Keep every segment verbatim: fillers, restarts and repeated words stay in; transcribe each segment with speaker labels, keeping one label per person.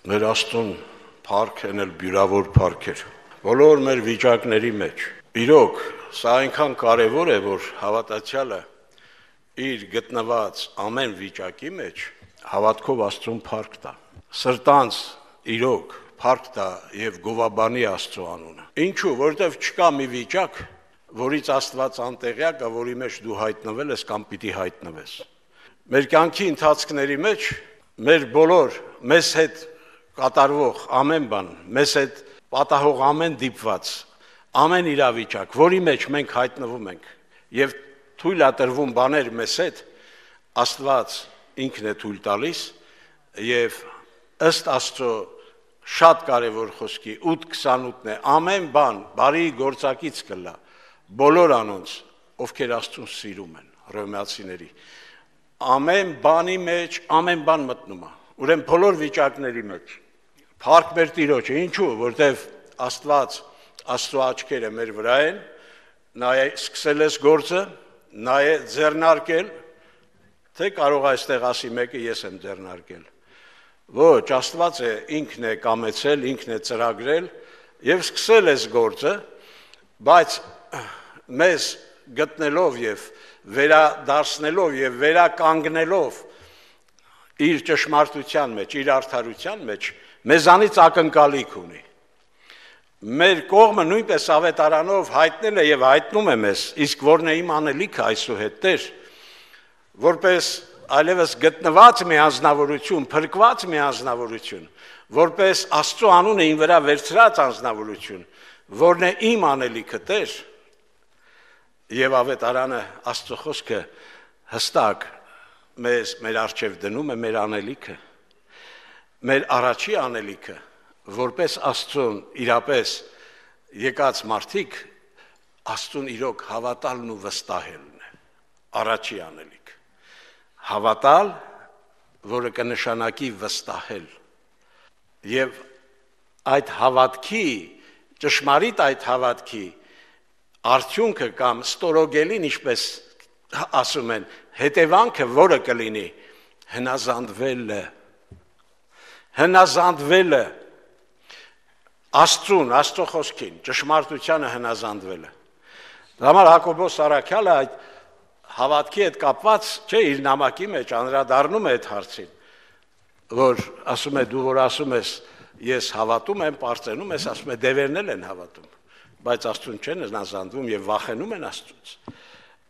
Speaker 1: Մեր Աստծուն փառքն էլ բյուրավոր փառք էր։ Բոլոր մեր վիճակների մեջ։ Իրոք, սա այնքան կարևոր է, որ հավատացյալը իր գտնված ամեն վիճակի մեջ հավատքով Աստծուն փառք տա։ Սրտանց իրոք փառք տա եւ գովաբանի Աստծո անունը։ Ինչու, որովհետեւ չկա մի վիճակ, որից Աստված անտեղյակ է, որի մեջ դու հայտնվել ես կամ պիտի հայտնվես։ Մեր կյանքի ընթացքների մեջ մեր բոլոր մեզ հետ կատարվող ամեն բան, մեզ հետ պատահող ամեն դիպված, ամեն իրավիճակ, որի մեջ մենք հայտնվում ենք եւ թույլ է տրվում բաներ մեզ հետ, Աստված ինքն է թույլ տալիս եւ ըստ Աստծո շատ կարևոր խոսքի ութ քսանութն է, ամեն բան բարի գործակից կլա, բոլոր անոնց, ովքեր Աստծուն սիրում են, Հռոմեացիների, ամեն բանի մեջ, ամեն բան մտնում է, ուրեմն բոլոր վիճակների մեջ, փառք մեր Տիրոջը, ինչու, որտեվ Աստված, Աստծո աչքերը մեր վրա են, նա է սկսել ես գործը, նա է ձեռնարկել, թե կարող այստեղ ասի մեկը ես եմ ձեռնարկել, ոչ, Աստված է, ինքն է կամեցել, ինքն է ծրագրել եւ սկսել ես գործը, բայց մեզ գտնելով եւ վերադարձնելով եւ վերականգնելով իր ճշմարտության մեջ, իր արդարության մեջ, մեզանից ակնկալիք ունի։ Մեր կողմը նույնպես ավետարանով հայտնել է եւ հայտնում է մեզ, իսկ որն է իմ անելիքը այսուհետ Տեր, որպես այլևս գտնված մի անձնավորություն, փրկված մի անձնավորություն, որպես Աստծո անունը ին վրա վերցրած անձնավորություն, որն է իմ անելիքը Տեր, եւ ավետարանը Աստծո խոսքը հստակ մեզ մեր առջև դնում է մեր անելիքը, մեր առաջի անելիքը, որպես Աստծուն իրապես եկած մարդիկ, Աստծուն իրոք հավատալն ու վստահելն է, առաջի անելիք, հավատալ, որը կնշանակի վստահել, եւ այդ հավատքի, ճշմարիտ այդ հավատքի, արդյունքը կամ ստորոգելին, ինչպես ասում են, հետևանքը, որը կլինի, հնազանդվելը, հնազանդվելը, Աստծուն, Աստծո խոսքին, ճշմարտությանը հնազանդվելը։ Համար Հակոբոս Առաքյալը այդ հավատքի հետ կապված, չէ, իր նամակի մեջ անդրադառնում է այդ հարցին, որ ասում է, դու որ ասում ես, ես հավատում եմ, պարծենում ես, ասում է, դևերն են հավատում, բայց Աստծուն չեն հնազանդվում եւ վախենում են Աստծուց։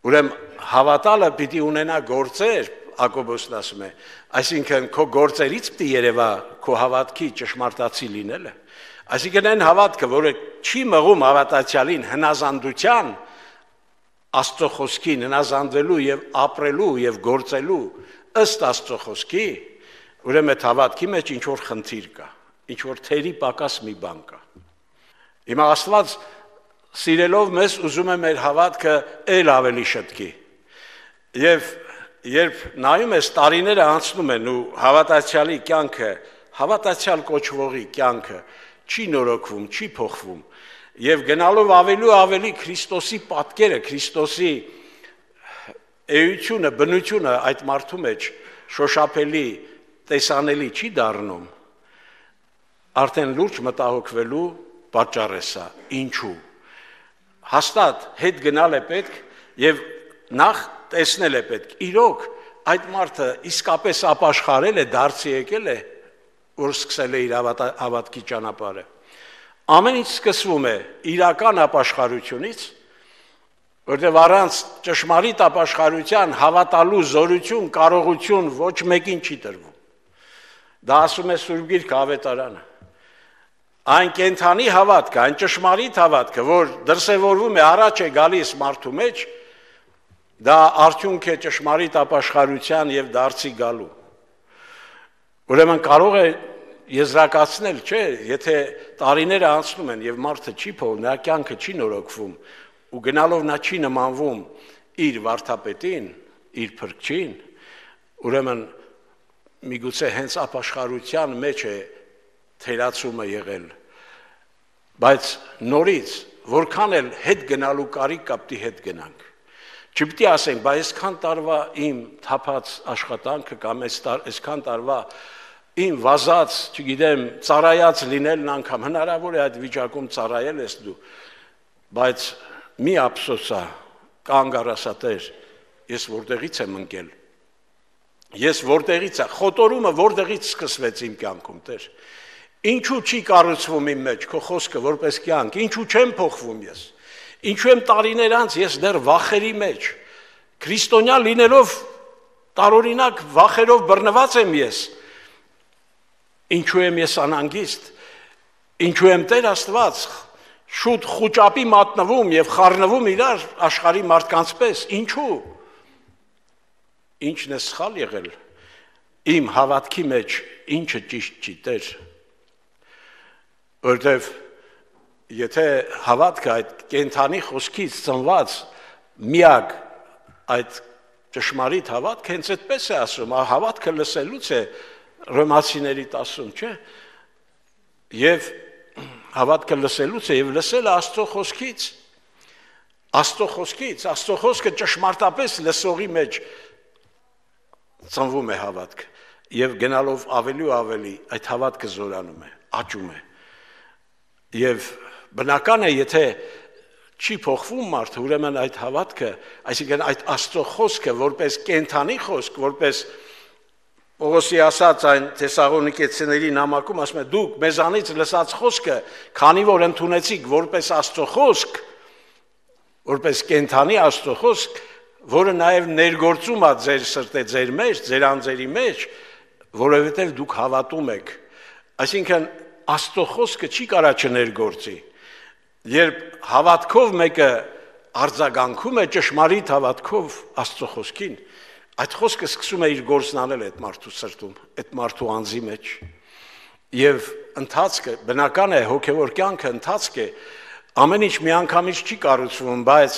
Speaker 1: Ուրեմն հավատալը պիտի ունենա գործեր, Հակոբոսն ասում է, այսինքն քո գործերից պիտի երևա քո հավատքի ճշմարտացի լինելը։ Այսինքն այն հավատքը, որը չի մղում հավատացյալին հնազանդության, Աստծո խոսքին հնազանդվելու եւ ապրելու եւ գործելու ըստ Աստծո խոսքի, ուրեմն այդ հավատքի մեջ ինչ որ խնդիր կա, ինչ որ թերի պակաս մի բան կա։ Հիմա Աստված սիրելով մեզ ուզում է մեր հավատքը ել ավելի շտկի։ Եվ երբ նայում ես տարիները անցնում են ու հավատացյալի կյանքը, հավատացյալ կոչվողի կյանքը չի նորոգվում, չի փոխվում, եւ գնալով ավելի ու ավելի Քրիստոսի պատկերը, Քրիստոսի էությունը, բնությունը այդ մարդու մեջ շոշափելի, տեսանելի չի դառնում, արդեն լուրջ մտահոգվելու պատճառ է սա։ Ինչու։ Հաստատ հետ գնալ է պետք եւ նախ տեսնել է պետք։ Իրոք այդ մարդը իսկապես ապաշխարել է, դարձի եկել է, որ սկսել է իր հավատքի ճանապարհը։ Ամեն ինչ սկսվում է իրական ապաշխարությունից, որտեղ առանց ճշմարիտ ապաշխարության հավատալու զորություն, կարողություն ոչ մեկին չի տրվում։ Դա ասում է Սուրբ Գիրքը, ավետարանը։ Այն կենթանի հավատքը, այն ճշմարիտ հավատքը, որ դրսևորվում է, առաջ է գալիս մարդու մեջ, դա արդյունք է ճշմարիտ ապաշխարության եւ դարձի գալու։ Ուրեմն կարող է եզրակացնել, չէ, եթե տարիները անցնում են եւ մարդը չի փոխվում, նրա կյանքը չի նորոգվում ու գնալով նա չի նմանվում իր վարդապետին, իր փրկչին, ուրեմն միգուցե հենց ապաշխարության մեջ է թերացումը եղել, բայց նորից որքան էլ հետ գնալու կարիք կա, պիտի հետ գնանք։ Չպիտի ասենք, բայց այսքան տարվա իմ թափած աշխատանքը կամ այսքան տարվա Իմ վազած, չգիտեմ, ծառայած լինելն անգամ հնարավոր է այդ վիճակում ծառայել ես դու, բայց մի ափսոսա, կանգ առասա Տեր, ես որտեղից եմ ընկել, ես որտեղից է, խոտորումը որտեղից սկսվեց իմ կյանքում Տեր, ինչու չի կառուցվում իմ մեջ քո խոսքը որպես կյանք, ինչու չեմ փոխվում ես, ինչու եմ տարիներ անց ես դեռ վախերի մեջ, քրիստոնյա լինելով տարօրինակ վախերով բռնված եմ ես, ինչու եմ ես անհանգիստ, ինչու եմ Տեր Աստված, շուտ խուճապի մատնվում եւ խառնվում իրար աշխարհի մարդկանց պես, ինչու, ինչն է սխալ եղել, իմ հավատքի մեջ ինչը ճիշտ չի Տեր, որտեվ եթե հավատքը այդ կենթանի խոսքից ծնված միակ այդ ճշմարիտ հավատքը հենց այդպես է ասում, հավատքը լսելուց է Ռոմացիների տասում, չէ, և հավատքը լսելուց է, և լսելը Աստծո խոսքից, Աստծո խոսքից, Աստծո խոսքը ճշմարտապես լսողի մեջ ծնվում է հավատքը, և գնալով ավելի ու ավելի այդ հավատքը զորանում է, աճում է, և բնական է, եթե չի փոխվում մարդը, ուրեմն այդ հավատքը, այսինքն այդ Աստծո խոսքը, որպես կենթանի խոսք, որպես Պողոսի ասած այն Թեսաղոնիկեցիների նամակում ասում է դուք մեզանից լսած խոսքը, քանի որ ընդունեցիք որպես Աստծո խոսք, որպես կենթանի Աստծո խոսք, որը նաև ներգործում է ձեր սրտե ձեր մեջ, ձեր անձերի մեջ, որովհետև դուք հավատում եք։ Այսինքն Աստծո խոսքը չի կարա չներգործի։ Երբ հավատքով մեկը արձագանքում է ճշմարիտ հավատքով Աստծո խոսքին, այդ խոսքը սկսում է իր գործն անել այդ մարդու սրտում, այդ մարդու անձի մեջ, և ընթացքը, բնական է, հոգևոր կյանքը ընթացք է, ամեն ինչ միանգամից չի կառուցվում, բայց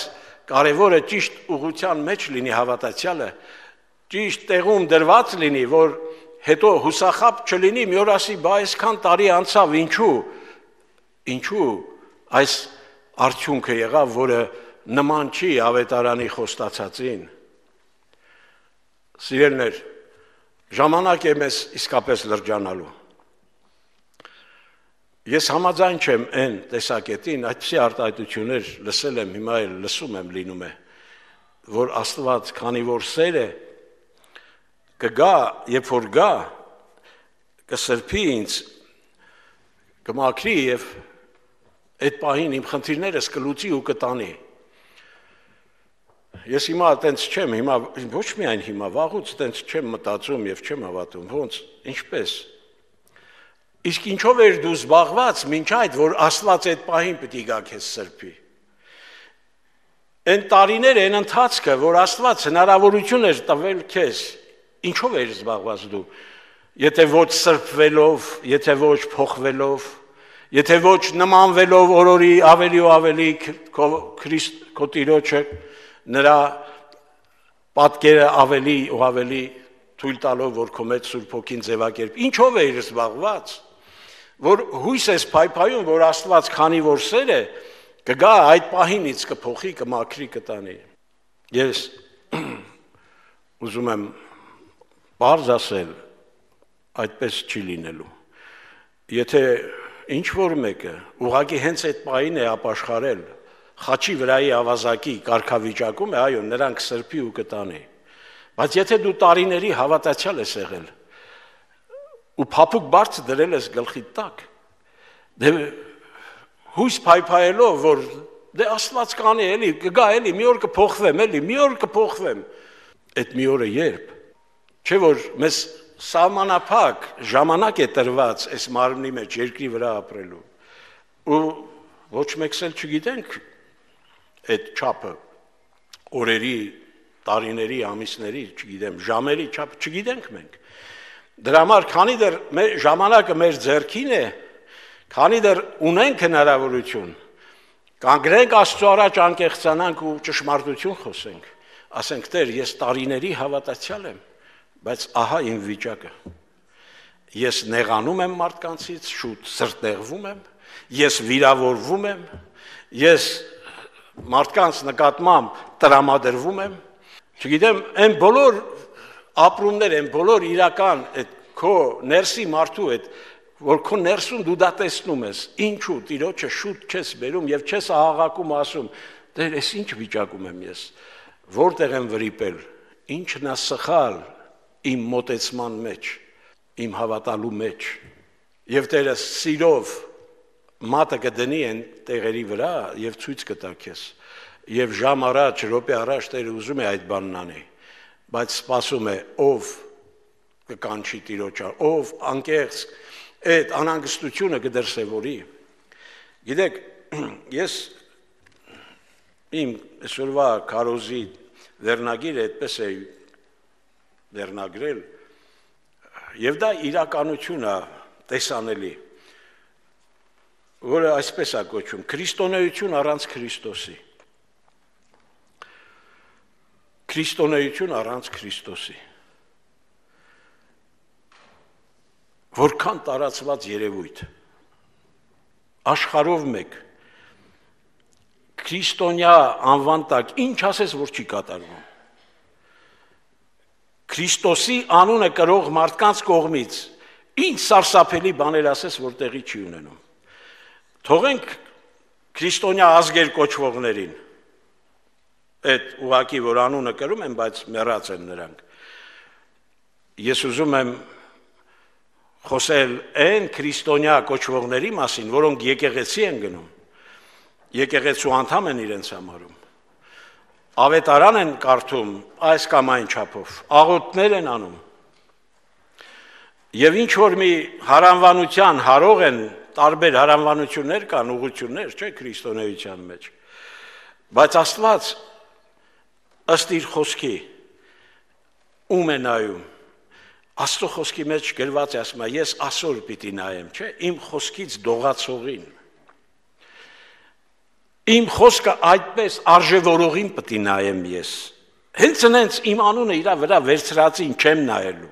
Speaker 1: կարևորը ճիշտ ուղղության մեջ լինի հավատացյալը, ճիշտ տեղում դրված լինի, որ հետո հուսախաբ չլինի, մի օր ասի, բա այսքան տարի անցավ, ինչու, ինչու այս արդյունքը եղավ, որը նման չի ավետարանի խոստացածին։ Սիրելներ, ժամանակ է մեզ իսկապես լրջանալու։ Ես համաձայն չեմ այն տեսակետին, այդպիսի արտահայտություններ լսել եմ, հիմա էլ լսում եմ լինում է, որ Աստված, քանի որ սեր է, կգա, երբ որ գա, կսրբի ինձ, կմաքրի և այդ պահին իմ խնդիրներս կլուծի ու կտանի։ Ես հիմա այտենց չեմ, հիմա ոչ միայն հիմա, վաղուց այտենց չեմ մտածում և չեմ հավատում, ոնց, ինչպես։ Իսկ ինչով էր դու զբաղված մինչ այդ, որ Աստված այդ պահին պիտի գա քեզ սրբի։ Այն տարիները, այն ընթացքը, որ Աստված հնարավորություն էր տվել քեզ, ինչով էր զբաղված դու, եթե ոչ սրբվելով, եթե ոչ փոխվելով, եթե ոչ նմանվելով օրորի ավելի ու ավելի քո Տիրոջը, նրա պատկերը ավելի ու ավելի թույլ տալով, որ քո մեջ Սուրբ Հոգին ձևակերպ, ինչով է իր զբաղված, որ հույս ես փայփայում, որ Աստված քանի որ սեր է, կգա այդ պահինից կփոխի, կմաքրի, կտանի։ Ես ուզում եմ բարձ ասել, այդպես չի լինելու։ Եթե ինչ որ մեկը ուղղակի հենց այդ պահին է ապաշխարել, խաչի վրայի ավազակի կարգավիճակում է, այո, նրանք սրբի ու կտանի։ Բայց եթե դու տարիների հավատացյալ ես եղել ու փափուկ բարձ դրել ես գլխի տակ, դե հույս փայփայելով, որ դե Աստված կանի էլի, կգա էլի, մի օր կփոխվեմ էլի, մի օր կփոխվեմ, այդ մի օրը երբ, չէ որ մեզ սահմանափակ ժամանակ է տրված այս մարմնի մեջ երկրի վրա ապրելու, ու ոչ մեկս էլ չգիտենք այդ չափը, օրերի, տարիների, ամիսների, չգիտեմ, ժամերի չափը, չգիտենք մենք։ Դրա համար, քանի դեռ ժամանակը մեր ձեռքին է, քանի դեռ ունենք հնարավորություն, կանգնենք Աստծո առաջ անկեղծանանք ու ճշմարտություն խոսենք, ասենք Տեր, ես տարիների հավատացյալ եմ, բայց ահա իմ վիճակը։ Ես նեղանում եմ մարդկանցից, շուտ սրտեղվում եմ, ես վիրավորվում եմ, ես մարդկանց նկատմամբ տրամադրվում եմ, չգիտեմ, այն բոլոր ապրումներ, այն բոլոր իրական այդ քո ներսի մարդու հետ, որ քո ներսում դու դա տեսնում ես, ինչու Տիրոջը շուտ չես բերում եւ չես աղաղակում ասում, դեր ես ինչ վիճակում եմ ես, որտեղ եմ վրիպել, ինչն է սխալ իմ մոտեցման մեջ, իմ հավատալու մեջ, եւ Տերը սիրով մատը կդնի այն տեղերի վրա եւ ցույց կտա քեզ, եւ ժամ առաջ, րոպե առաջ Տերը ուզում է այդ բանն անի, բայց սպասում է ով կկանչի Տիրոջը, ով անկեղծ այդ անհանգստությունը կդրսևորի։ Գիտեք, ես իմ այսօրվա քարոզի վերնագիրը այդպես է վերնագրել, եւ դա իրականություն է տեսանելի, որը այսպես է կոչվում, քրիստոնեություն առանց Քրիստոսի։ Քրիստոնեություն առանց Քրիստոսի։ Որքան տարածված երևույթ, աշխարհով մեկ, քրիստոնյա անվան տակ, ինչ ասես, որ չի կատարվում։ Քրիստոսի անունը կրող մարդկանց կողմից, ինչ սարսափելի բաներ ասես, որ տեղի չի ունենում։ Թողենք քրիստոնյա ազգեր կոչվողներին, այդ ուղակի, որ անունը կրում են, բայց մեռած են նրանք։ Ես ուզում եմ խոսել այն քրիստոնյա կոչվողների մասին, որոնք եկեղեցի են գնում, եկեղեցու անդամ են իրենց համարում, ավետարան են կարդում այս կամ այն չափով, աղոթներ են անում, եւ ինչ որ մի հարանվանության հարող են, տարբեր հարանվանություններ կան, ուղղություններ, չէ, քրիստոնեության մեջ, բայց Աստված ըստ իր խոսքի ում է նայում, Աստծո խոսքի մեջ գրված է, ասում է, ես այսօր պիտի նայեմ, չէ, իմ խոսքից դողացողին, իմ խոսքը այդպես արժևորողին պիտի նայեմ ես, հենց նենց իմ անունը իրա վրա վերցրածին չեմ նայելու,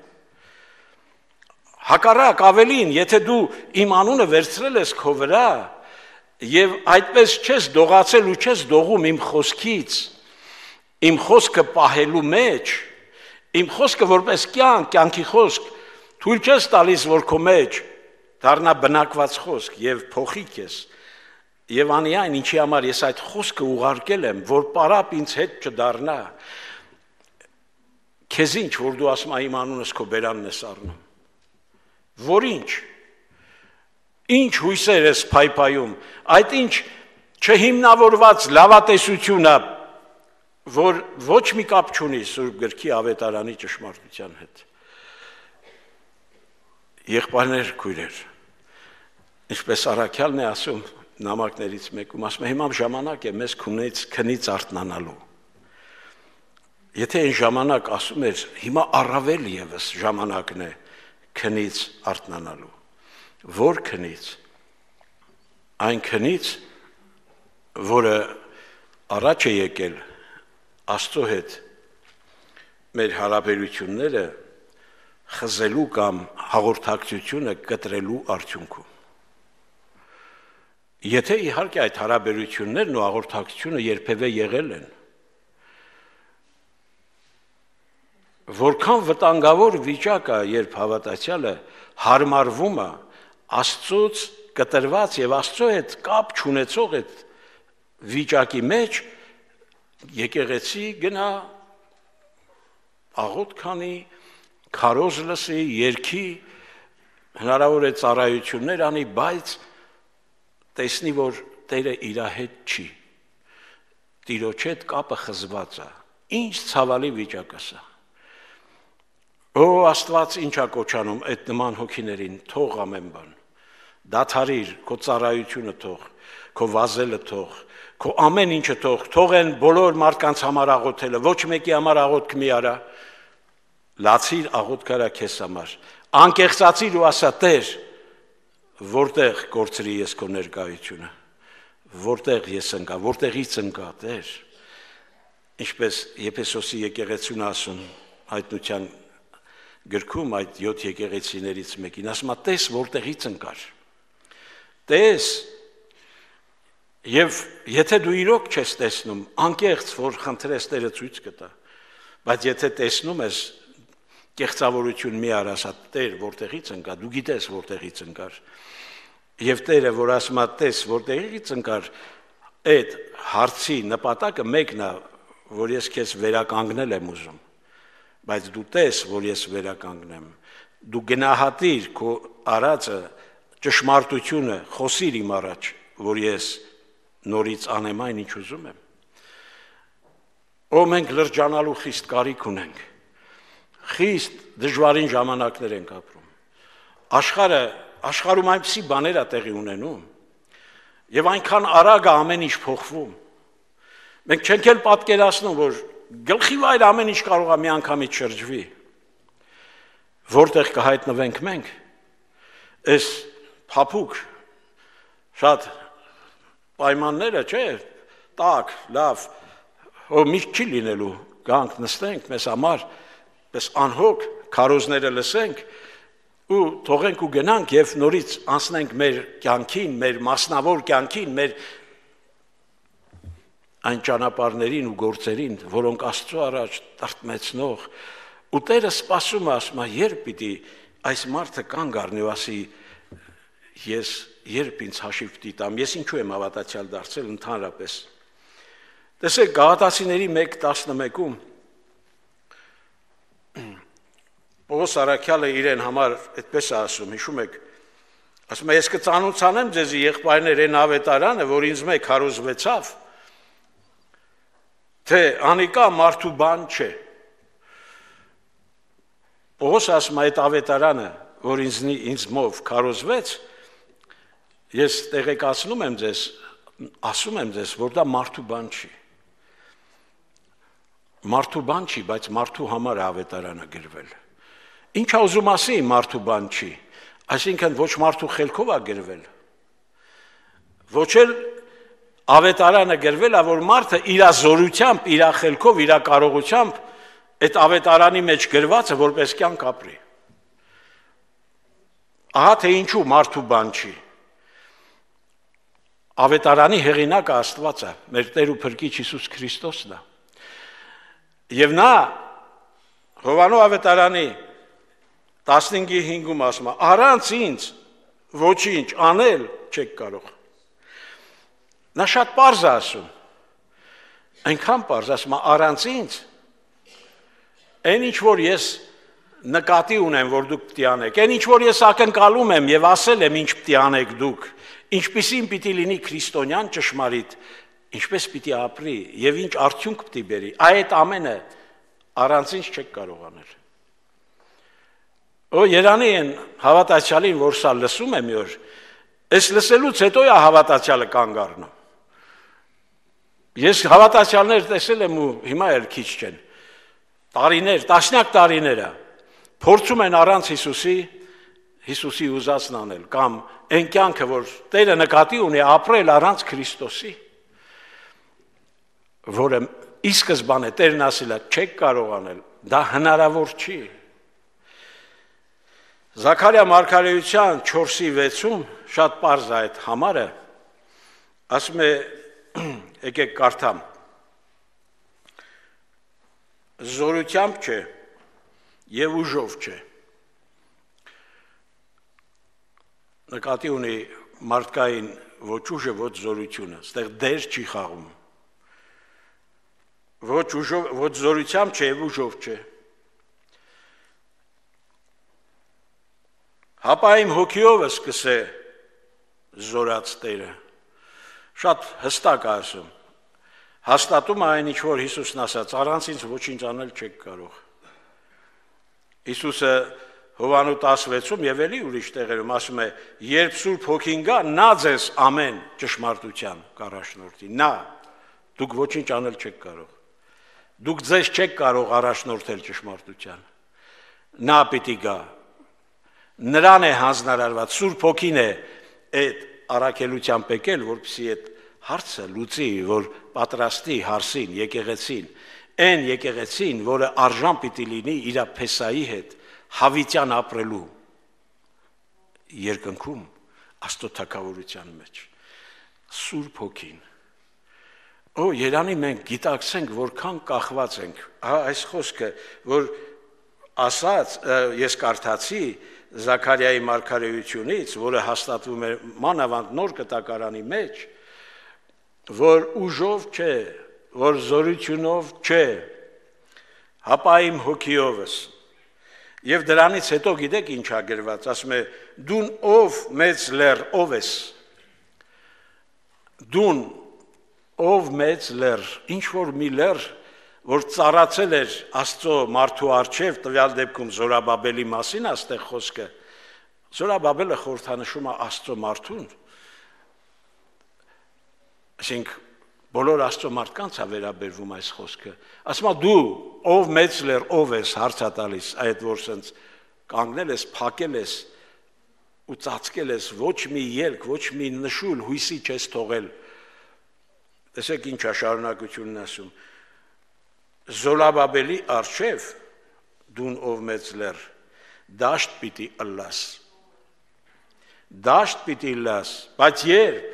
Speaker 1: հակառակ ավելին, եթե դու իմ անունը վերցրել ես քո վրա եւ այդպես չես դողացել ու չես դողում իմ խոսքից, իմ խոսքը պահելու մեջ, իմ խոսքը որպես կյանք, կյանքի խոսք, թույլ չես տալիս, որ քո մեջ դառնա բնակված խոսք եւ փոխի քեզ։ Եվ անի այն, ինչի համար ես այդ խոսքը ուղարկել եմ, որ պարապ ինձ հետ չդառնա։ Քեզ ինչ, որ դու ասում ես իմ անունս քո բերանն ես առնում։ Որ ինչ։ Ինչ հույսեր ես փայփայում, այդ ինչ չհիմնավորված լավատեսություն է, որ ոչ մի կապ չունի Սուրբ գրքի ավետարանի ճշմարտության հետ։ Եղբայրներ, քույրեր, ինչպես Առաքյալն է ասում նամակներից մեկում, ասում է հիմա ժամանակ է մեզ քունից քնից արթնանալու։ Եթե այն ժամանակ ասում էր, հիմա առավել եւս ժամանակն է քնից արթնանալու։ Որ քնից։ Այն քնից, որը առաջ է եկել Աստծո հետ մեր հարաբերությունները խզելու կամ հաղորդակցությունը կտրելու արդյունքում։ Եթե իհարկե այդ հարաբերություններն ու հաղորդակցությունը երբևէ եղել են, որքան վտանգավոր վիճակ է, երբ հավատացյալը հարմարվում է Աստծոց կտրված եւ Աստծո հետ կապ չունեցող այդ վիճակի մեջ, եկեղեցի գնա, աղոթ քանի, քարոզ լսի, երգի, հնարավոր է ծառայություններ անի, բայց տեսնի, որ Տերը իր հետ չի, Տիրոջ հետ կապը խզված է, ինչ ցավալի վիճակ է սա։ Օ Աստված ինչ է կոչանում այդ նման հոգիներին, թող ամեն բան, դադարիր, քո ծառայությունը թող, քո վազելը թող, քո ամեն ինչը թող, թող են բոլոր մարդկանց համար աղոթելը, ոչ մեկի համար աղոթք մի արա, լացիր աղոթք արա քեզ համար, անկեղծացիր ու ասա Տեր, որտեղ կորցրի ես քո ներկայությունը, որտեղ ես ընկա, որտեղից ընկա Տեր, ինչպես Եփեսոսի եկեղեցուն ասում հայտնության գրքում այդ յոթ եկեղեցիներից մեկին, ասում է տես որտեղից ընկար, տես, եւ եթե դու իրոք չես տեսնում, անկեղծ որ խնդրես Տերը ցույց կտա, բայց եթե տեսնում ես, կեղծավորություն մի արասա, Տեր, որտեղից ընկա, դու գիտես որտեղից ընկար։ Եվ Տերը, որ ասում է, տես, որտեղից ընկար, այդ հարցի նպատակը մեկն է, որ ես քեզ վերականգնել եմ ուզում, բայց դու տես, որ ես վերականգնեմ, դու գնահատիր քո արածը, ճշմարտությունը, խոսիր իմ առաջ, որ ես նորից անեմ այն, ինչ ուզում եմ։ Ո մենք լրջանալու խիստ կարիք ունենք, խիստ դժվարին ժամանակներ ենք ապրում, աշխարհը, աշխարհում այնպիսի բաներ է տեղի ունենում, եւ այնքան արագ է ամեն ինչ փոխվում, մենք չենք էլ պատկերացնում, որ գլխի վայր ամեն ինչ կարող է մի անգամից շրջվի, որտեղ կհայտնվենք մենք, այս փափուկ, շատ պայմանները, չէ, տակ, լավ, ո միշտ չի լինելու, գանք նստենք մեզ համար, պես անհոգ քարոզները լսենք ու թողենք ու գնանք եւ նորից անցնենք մեր կյանքին, մեր մասնավոր կյանքին, մեր այն ճանապարհներին ու գործերին, որոնք Աստծո առաջ տրտմեցնող, ու Տերը սպասում է, ասում է, երբ պիտի այս մարդը կանգ առնի ու ասի, ես երբ ինձ հաշիվ պիտի տամ, ես ինչու եմ հավատացյալ դարձել ընդհանրապես։ Տեսեք, Գաղատացիների մեկ տասնմեկում Պողոս Արաքյալը իրեն համար այդպես է ասում, հիշում եք, ասում է, ես կծանոթանեմ ձեզի եղբայրներ այն ավետարանը, որ ինձ մեկ հարոզվեցավ, թե անիկա մարդու բան չէ։ Պողոս ասում է, այդ ավետարանը, որ ինձ, ինձ մով քարոզվեց, ես տեղեկացնում եմ ձեզ, ասում եմ ձեզ, որ դա մարդու բան չի։ Մարդու բան չի, բայց մարդու համար ավետարանը գրվել։ Ինչ է ուզում ասի մարդու բան չի, այսինքն ոչ մարդու խելքով է գրվել, ոչ էլ ավետարանը գրվել է, որ մարդը իր զորությամբ, իր խելքով, իր կարողությամբ այդ ավետարանի մեջ գրվածը որպես կյանք ապրի։ Ահա թե ինչու մարդու բան չի։ Ավետարանի հեղինակը Աստված է, մեր Տեր ու Փրկիչ Հիսուս Քրիստոսն է։ Եվ նա Հովանու ավետարանի տասնհինգի հինգում ասում է, առանց ինձ ոչինչ անել չեք կարող։ Նա շատ պարզ է ասում, այնքան պարզ ասում է, առանց ինձ, այն ինչ որ ես նկատի ունեմ, որ դուք պիտի անեք, այն ինչ որ ես ակնկալում եմ եւ ասել եմ, ինչ պիտի անեք դուք, ինչպիսին պիտի լինի քրիստոնյան ճշմարիտ, ինչպես պիտի ապրի եւ ինչ արդյունք պիտի բերի, այդ ամենը առանց ինձ չեք կարող անել։ Օ Երանի են հավատացյալին, որ սա լսում է մի օր, այս լսելուց հետո է հավատացյալը կանգ առնում։ Ես հավատացյալներ տեսել եմ ու հիմա էլ քիչ չեն։ Տարիներ, տասնյակ տարիներ է փորձում են առանց Հիսուսի, Հիսուսի ուզածն անել, կամ այն կյանքը, որ Տերը նկատի ունի ապրել առանց Քրիստոսի, որը ի սկզբանե Տերն ասել է, չեք կարող անել, դա հնարավոր չի։ Զաքարիա մարգարեության չորսի վեցում շատ պարզ է այդ համարը, ասում է, եկեք կարդամ, զորությամբ չէ եւ ուժով չէ։ Նկատի ունի մարդկային ոչ ուժը, ոչ զորությունը, այստեղ դեր չի խաղում։ Ոչ ուժով, ոչ զորությամբ չէ եւ ուժով չէ։ Հապա իմ հոգիով սկսե զորած Տերը։ Շատ հստակ է ասում։ Հաստատում է այն, ինչ որ Հիսուսն ասաց, առանց ինձ ոչինչ անել չեք կարող։ Հիսուսը Հովանու տասնվեցում եւ էլի ուրիշ տեղերում ասում է, երբ Սուրբ Հոգին գա, նա ձեզ ամեն ճշմարտության կառաջնորդի։ Նա, դուք ոչինչ անել չեք կարող։ Դուք ձեզ չեք կարող առաջնորդել ճշմարտության։ Նա պիտի գա։ Նրան է հանձնարարված, Սուրբ Հոգին է այդ առաքելությամբ եկել, որպեսզի այդ հարցը լուծի, որ պատրաստի հարսին, եկեղեցին, այն եկեղեցին, որը արժան պիտի լինի իր փեսայի հետ, հավիտյան ապրելու երկնքում, Աստծո թագավորության մեջ, Սուրբ Հոգին։ Օ, Երանի մենք գիտակցենք, որքան կախված ենք, այս խոսքը, որ ասաց, ես կարդացի Զաքարիայի մարգարեությունից, որը հաստատվում է մանավանդ նոր կտակարանի մեջ, որ ուժով չէ, որ զորությունով չէ, հապա իմ հոգիովս։ Եվ դրանից հետո գիտեք ինչ ա գրված, ասում է դուն ով մեծ լեռ, ով ես։ Դուն ով մեծ լեռ, ինչ որ մի լեռ, որ ծառացել էր Աստծո մարդու առջև, տվյալ դեպքում Զորաբաբելի մասին աստեղ խոսքը, Զորաբաբելը խորհրդանշում է Աստծո մարդուն, ասենք բոլոր Աստծո մարդկանց է վերաբերվում այս խոսքը, ասում է դու ով մեծ լեռ, ով ես, հարց է տալիս, այդ որ սենց կանգնել ես, փակել ես ու ծածկել ես, ոչ մի ելք, ոչ մի նշույլ հույսի չես թողել, տեսեք ինչ է շարունակությունն ասում, Զորաբաբելի առջև դուն ով մեծ լեռ, դաշտ պիտի ըլլաս, դաշտ պիտի ըլլաս, բայց երբ,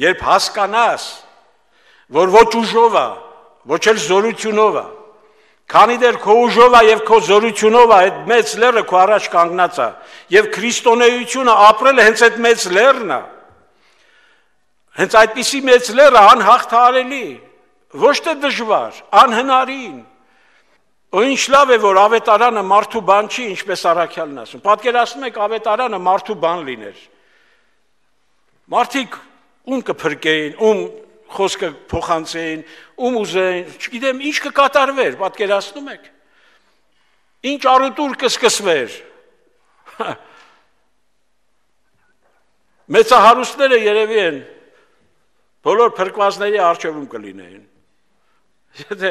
Speaker 1: երբ հասկանաս, որ ոչ ուժով է, ոչ էլ զորությունով է, քանի դեռ քո ուժով է և քո զորությունով է, այդ մեծ լեռը քո առաջ կանգնած է, և քրիստոնեությունը ապրելը հենց այդ մեծ լեռն է, հենց այդպիսի մեծ լեռը անհաղթահարելի, ոչ թե դժվար, անհնարին, ու ինչ լավ է, որ ավետարանը մարդու բան չի, ինչպես Առաքյալն ասում, պատկերացնում եք ավետարանը մարդու բան լիներ, մարդիկ ում կփրկեին, ում խոսքը փոխանցեին, ում ուզեին, չգիտեմ, ինչ կկատարվեր, պատկերացնում եք, ինչ առուտուր կսկսվեր, մեծահարուստները երևի են, բոլոր փրկվածների առջևում կլինեին, եթե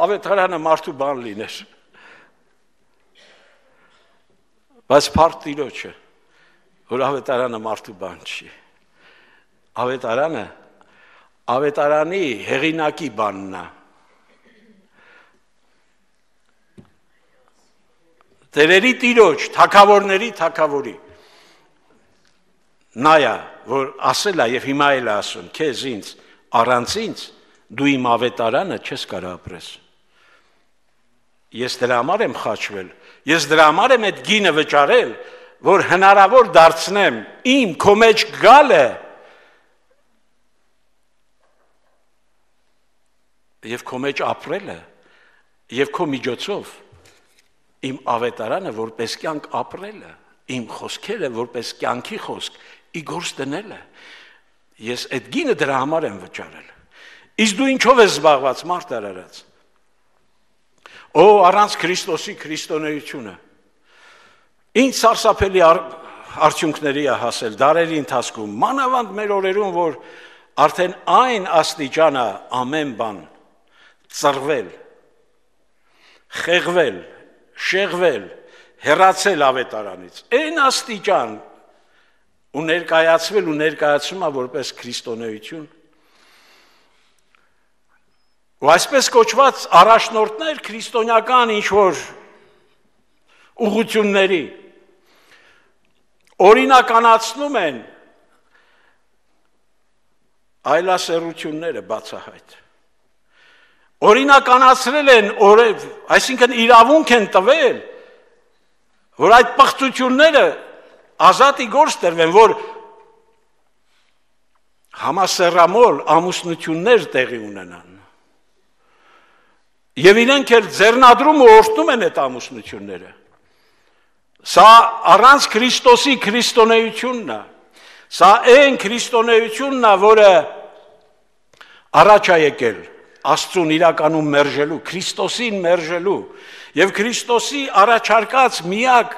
Speaker 1: ավետարանը մարդու բան լիներ, բայց փառք Տիրոջը, որ ավետարանը մարդու բան չի, ավետարանը, ավետարանի հեղինակի բանն է, տերերի Տիրոջ, թագավորների թագավորի, նա է, որ ասել է և հիմա էլ է ասում, քեզ ինձ, առանց ինձ, դու իմ ավետարանը չես կարող ապրես, ես դրա համար եմ խաչվել, ես դրա համար եմ այդ գինը վճարել, որ հնարավոր դարձնեմ իմ քո մեջ գալը և քո մեջ ապրելը և քո միջոցով իմ ավետարանը որպես կյանք ապրելը, իմ խոսքերը որպես կյանքի խոսք, ի գործ դնելը, ես այդ գինը դրա համար եմ վճարել, իսկ դու ինչով ես զբաղված մարդ արարած, օ առանց Քրիստոսի քրիստոնեությունը, ինչ սարսափելի արդյունքների է հասել դարերի ընթացքում, մանավանդ մեր օրերում, որ արդեն այն աստիճանը ամեն բան ծռվել, խեղվել, շեղվել, հեռացել ավետարանից, այն աստիճան ու ներկայացվել ու ներկայացում է որպես քրիստոնեություն, ու այսպես կոչված առաջնորդներ քրիստոնյական ինչ-որ ուղղությունների օրինականացնում են այլասեռությունները բացահայտ, օրինականացրել են, այսինքն իրավունք են տվել, որ այդ պղծությունները ազատի գործ տրվեն, որ համասեռամոլ ամուսնություններ տեղի ունենան, և իրենք էլ ձեռնադրում ու օրհնում են այդ ամուսնությունները, սա առանց Քրիստոսի քրիստոնեությունն է, սա այն քրիստոնեությունն է, որը առաջ է եկել Աստծուն իրականում մերժելու, Քրիստոսին մերժելու և Քրիստոսի առաջարկած միակ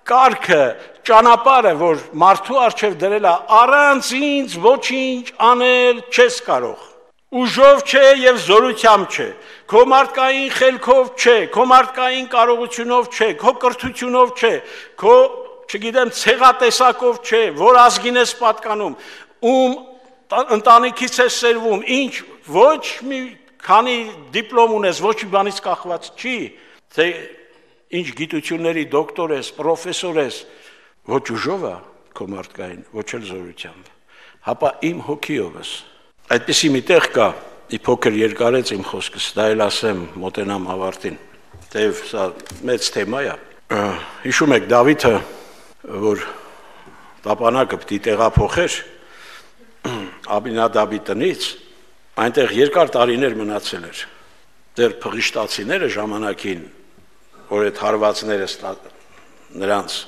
Speaker 1: կարգը, ճանապարհը, որ մարդու առջև դրել է, առանց ինձ ոչինչ անել չես կարող, ուժով չէ և զորությամբ չէ, քո մարդկային խելքով չէ, քո մարդկային կարողությունով չէ, քո կրթությունով չէ, քո, չգիտեմ, ցեղատեսակով չէ, որ ազգին ես պատկանում, ում ընտանիքից ես սերվում, ինչ, ոչ մի քանի դիպլոմ ունես, ոչ մի բանից կախված չի, թե ինչ գիտությունների դոկտոր ես, պրոֆեսոր ես, ոչ ուժով է քո մարդկային, ոչ էլ զորությամբ, հապա իմ հոգիով ես, այդպիսի մի տեղ կա, ի փոքր երկարեց իմ խոսքս, դա էլ ասեմ, մոտենամ ավարտին, Թեև սա մեծ թեմա է։ Հիշում եք Դավիթը, որ տապանակը պիտի տեղափոխեր Աբինադաբի տնից, այնտեղ երկար տարիներ մնացել էր։ Դեռ փղիշտացիները ժամանակին, որ այդ հարվածները նրանց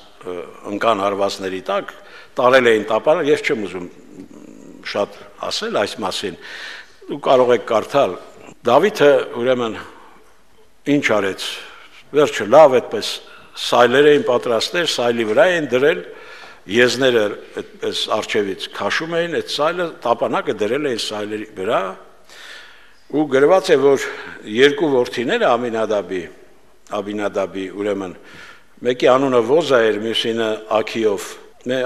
Speaker 1: ընկան հարվածների տակ, տարել էին տապանակ, ես չեմ ուզում շատ ասել այս մասին, դու կարող եք կարդալ։ Դավիթը ուրեմն ինչ արեց, վերջը լավ այդպես սայլեր էին պատրաստել, սայլի վրա էին դրել, եզները այդպես արջևից քաշում էին, այդ սայլը տապանակը դրել էին սայլերի վրա, ու գրված է, որ երկու որդիները Ամինադաբի, Աբինադաբի, ուրեմն մեկի անունը Ոզա էր, մյուսինը Աքիով,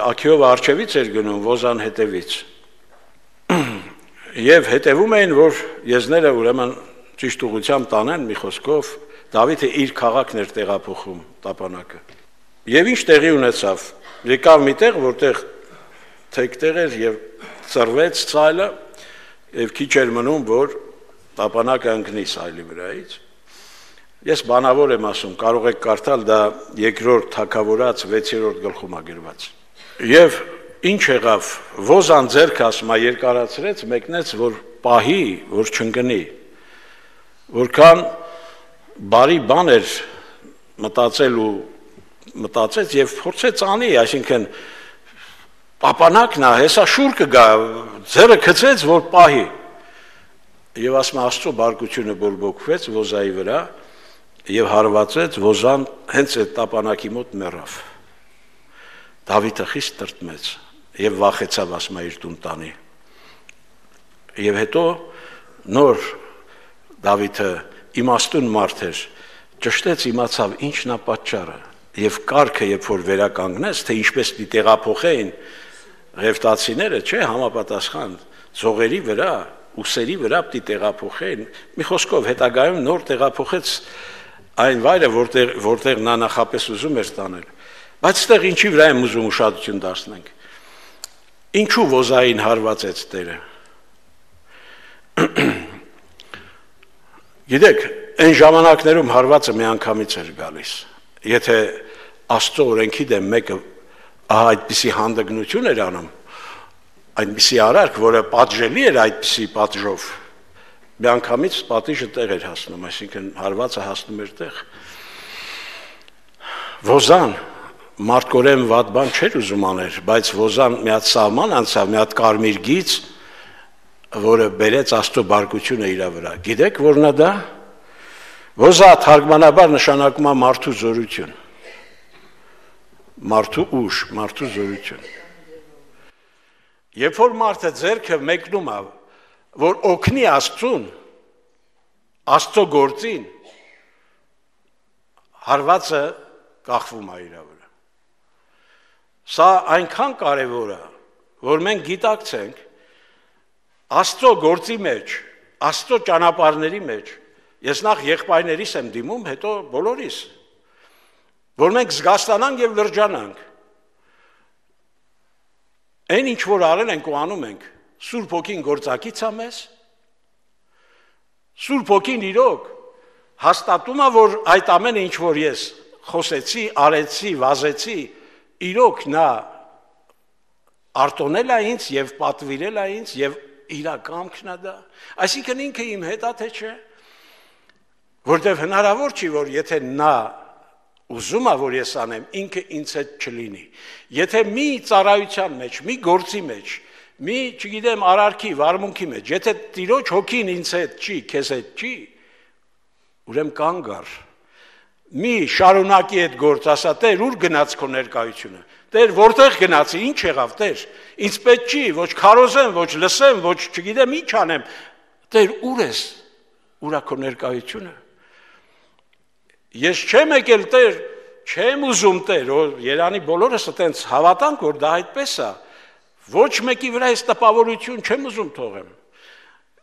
Speaker 1: Աքիովը արջևից էր գնում, Ոզան հետևից, եւ հետևում էին, որ եզները ուրեմն ճիշտ ուղղությամբ տանեն, մի խոսքով Դավիթը իր քաղաքն էր տեղափոխում տապանակը։ Եվ ինչ տեղի ունեցավ, եկավ մի տեղ, որտեղ թեքտեղ էր եւ ծռվեց սայլը, եւ քիչ էր մնում, որ տապանակը ընկնի սայլի վրայից։ Ես բանավոր եմ ասում, կարող եք կարդալ, դա երկրորդ թագավորաց վեցերորդ գլխում է գրված։ Եվ ինչ եղավ, Ոզան ձեռքը ասում է երկարացրեց, մեկնեց, որ պահի, որ չընկնի, որքան բարի բան էր մտածել ու մտածեց եւ փորձեց անի, այսինքն տապանակն է, հեսա շուր կգա, ձեռը գցեց, որ պահի։ Եվ ասում է Աստծո բարկությունը բորբոքվեց Ոզայի վրա եւ հարվածեց, Ոզան հենց այդ տապանակի մոտ մեռավ։ Դավիթը խիստ տրտմեց եւ վախեցավ, ասում է իր տուն տանի։ Եվ հետո նոր Դավիթը իմաստուն մարդ էր, ճշտեց իմացավ ինչն է պատճառը եւ կարգը երբ որ վերականգնեց, թե ինչպես պիտի տեղափոխեին ղևտացիները, չէ, համապատասխան զողերի վրա, ուսերի վրա պիտի տեղափոխեին, մի խոսքով հետագայում նոր տեղափոխեց այն վայրը, որտեղ որտեղ նա նախապես ուզում էր տանել։ Բայց այդտեղ ինչի վրա եմ ուզում ուշադրություն դարձնենք։ Ինչու Ոզային հարվածեց Տերը։ Գիտեք, այն ժամանակներում հարվածը միանգամից էր գալիս։ Եթե Աստծո օրենքի դեմ մեկը ահա այդպիսի հանդգնություն էր անում, այդպիսի արարք, որը պատժելի էր այդպիսի պատժով, միանգամից պատիժը տեղ էր հասնում, այսինքն հարվածը հասնում էր տեղ։ Ոզան մարդկորեն վատ բան չէր ուզում աներ, բայց Ոզան մի հատ սահման անցավ, մի հատ կարմիր գիծ, որը բերեց Աստծո բարկությունը իր վրա։ Գիտեք, որն է դա։ Ոզա թարգմանաբար նշանակում է մարդու զորություն, մարդու ուժ, մարդու զորություն։ Երբ որ մարդը ձեռքը մեկնում է, որ օգնի Աստծուն, Աստծո գործին, հարվածը կախվում է իր վրա։ Սա այնքան կարևոր է, որ մենք գիտակցենք Աստծո գործի մեջ, Աստծո ճանապարհների մեջ, ես նախ եղբայրներիս եմ դիմում, հետո բոլորիս, որ մենք զգաստանանք եւ լրջանանք։ Այն ինչ որ արել ենք ու անում ենք, Սուրբ Հոգին գործակից է մեզ, Սուրբ Հոգին իրոք հաստատում է, որ այդ ամենը ինչ որ ես խոսեցի, արեցի, վազեցի, իրոք նա արտոնել է ինձ եւ պատվիրել է ինձ եւ իրականքն է դա, այսինքն ինքը իմ հետ է թե չէ, որտեղ հնարավոր չի, որ եթե նա ուզում է, որ ես անեմ, ինքը ինձ հետ չլինի, եթե մի ծառայության մեջ, մի գործի մեջ, մի, չգիտեմ, արարքի, վարմունքի մեջ, եթե Տիրոջ Հոգին ինձ հետ չի, քեզ հետ չի, ուրեմն կանգ առ, մի շարունակի այդ գործ, ասա, Տեր, ուր գնաց քո ներկայությունը, Տեր, որտեղ գնացի, ինչ եղավ, Տեր, ինձ պետք չի, ոչ քարոզեմ, ոչ լսեմ, ոչ չգիտեմ ինչ անեմ, Տեր, ուր ես, ուր է քո ներկայությունը։ Ես չեմ եկել, Տեր, չեմ ուզում, Տեր, Երանի բոլորս այտենց հավատանք, որ դա այդպես է, ոչ մեկի վրա այս տպավորություն չեմ ուզում թողեմ,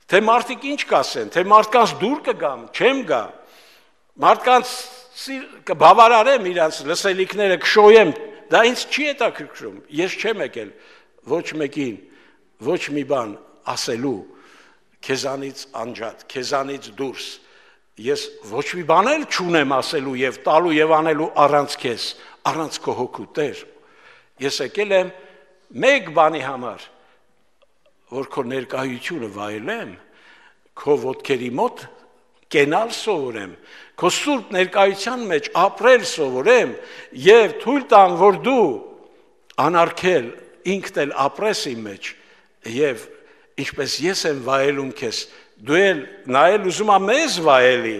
Speaker 1: թե մարդիկ ինչ կասեն, թե մարդկանց դուր կգամ, չեմ գա, մարդկանց կբավարարեմ իրանց լսելիքները, կշոյեմ, դա ինձ չի հետաքրքրում, ես չեմ եկել ոչ մեկին, ոչ մի բան ասելու, քեզանից անջատ, քեզանից դուրս, ես ոչ մի բան էլ չունեմ ասելու եւ տալու եւ անելու առանց քեզ, առանց քո հոգու Տեր։ Ես եկել եմ մեկ բանի համար, որ քո ներկայությունը վայելեմ, քո ոտքերի մոտ կենալ սովորեմ, քո սուրբ ներկայության մեջ ապրել սովորեմ եւ թույլ տամ, որ դու անարգել ինքդ էլ ապրես իմ մեջ եւ ինչպես ես եմ վայելում քեզ, դու էլ նա էլ ուզում ա մեզ վայելի,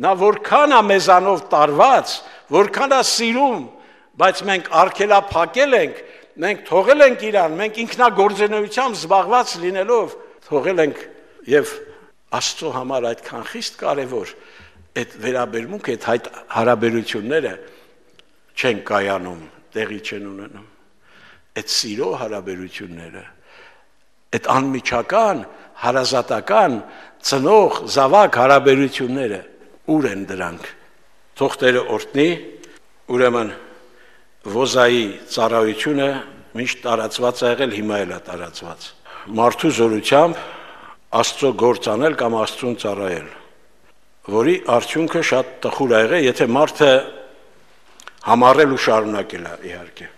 Speaker 1: նա որքան է մեզանով տարված, որքան է սիրում, բայց մենք արգելափակել ենք, մենք թողել ենք իրան, մենք ինքնագործունեությամբ զբաղված լինելով թողել ենք եւ Աստծո համար այդքան խիստ կարևոր այդ վերաբերմունքը, այդ հարաբերությունները չեն կայանում, տեղի չեն ունենում։ Այդ սիրո հարաբերությունները, այդ անմիջական, հարազատական, ծնող, զավակ հարաբերությունները, ուր են դրանք։ Թող Տերը օրհնի, ուրեմն Ոզայի ծառայությունը միշտ տարածված է եղել, հիմա էլ է տարածված։ Մարդու զորությամբ Աստծո գործ անել կամ Աստծուն ծառայել, որի արդյունքը շատ տխուր է եղել, եթե մարդը համառել ու շարունակել է, իհարկե։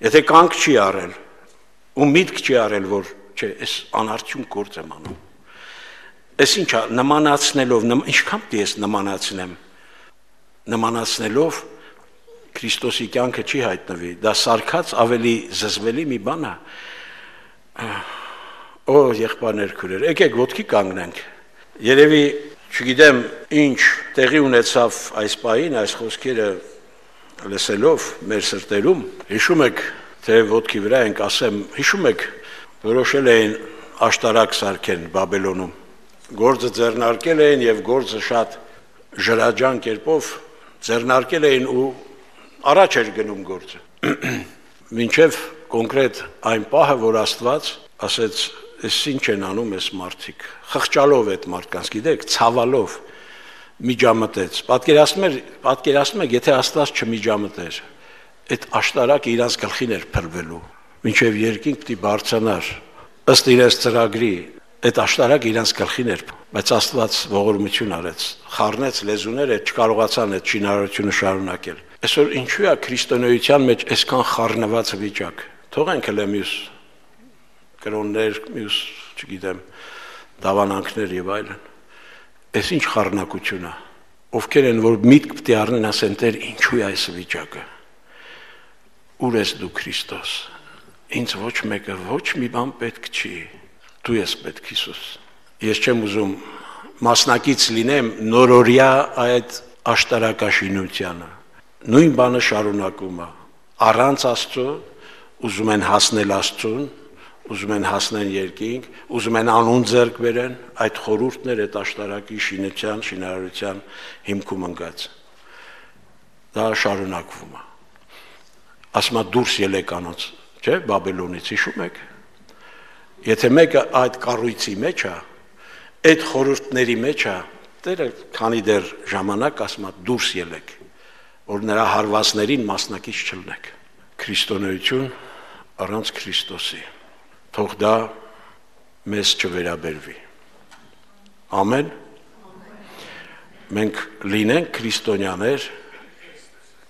Speaker 1: Եթե կանգ չի արել ու միտք չի արել, որ չէ, այս անարդյուն գործ եմ անում։ Այս ինչա, նմանացնելով, ինչքան պիտի ես նմանացնեմ, նմանացնելով Քրիստոսի կյանքը չի հայտնվի, դա սարքած ավելի զզվելի մի բան է։ Օ, եղբայրներ, քույրեր, եկեք ոտքի կանգնենք։ Երևի, չգիտեմ, ինչ տեղի ունեցավ այս պահին, այս խոսքերը լսելով մեր սրտերում, հիշում եք, թե ոտքի վրա ենք ասեմ, հիշում եք, որոշել էին աշտարակ սարքեն Բաբելոնում։ Գործը ձեռնարկել էին եւ գործը շատ ժրաջան կերպով ձեռնարկել էին ու առաջ էր գնում գործը։ Մինչև կոնկրետ այն պահը, որ Աստված ասեց, «Էս ինչ են անում այս մարդիկ», խղճալով այդ մարդկանց, գիտեք, ցավալով միջամտեց։ Պատկերացնում եք, պատկերացնում եք, եթե Աստված չմիջամտեր, այդ աշտարակը իրանց գլխին էր փրվելու, մինչև երկինք պիտի բարձրանար, ըստ իրենց ծրագրի, այդ աշտարակը իրանց գլխին էր, բայց Աստված ողորմություն արեց, խառնեց լեզուները, չկարողացան այդ շինարարությունը շարունակել։ Այսօր ինչու է քրիստոնեության մեջ այսքան խառնված վիճակ։ Թողենք հələ մյուս կրոններ, մյուս, չգիտեմ, դավանանքներ եւ այլն։ Այս ինչ խառնակություն է։ Ովքեր են, որ միտք պիտի առնեն, ասեն, Տեր, ինչու է այս վիճակը։ Ուր ես դու Քրիստոս։ Ինձ ոչ մեկը ոչ մի բան պետք չի։ Դու ես պետք, Հիսուս։ Ես չեմ ուզում մասնակից լինեմ նորորյա այդ աշտարակաշինությանը։ Նույն բանը շարունակում է։ Առանց Աստծո ուզում են հասնել Աստծուն, ուզում են հասնեն երկինք, ուզում են անուն ձեռք բերեն, այդ խորհուրդներ այդ աշտարակի շինության, շինարարության հիմքում ընկած։ Դա շարունակվում է։ Ասում է դուրս ելեք անոնց, չէ՞, Բաբելոնից, հիշում եք։ Եթե մեկը այդ կառույցի մեջ է, այդ խորհուրդների մեջ է, Տերը քանի դեռ ժամանակ ասում է դուրս ելեք, որ նրա հարվածներին մասնակից չլինեք։ Քրիստոնեություն առանց Քրիստոսի, թող դա մեզ չվերաբերվի։ Ամեն։ Մենք լինենք քրիստոնյաներ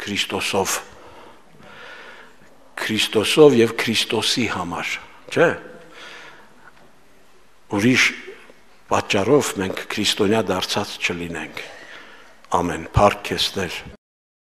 Speaker 1: Քրիստոսով, Քրիստոսով եւ Քրիստոսի համար, չէ՞։ Ուրիշ պատճառով մենք քրիստոնյա դարձած չլինենք։ Ամեն, փառք քեզ Տեր։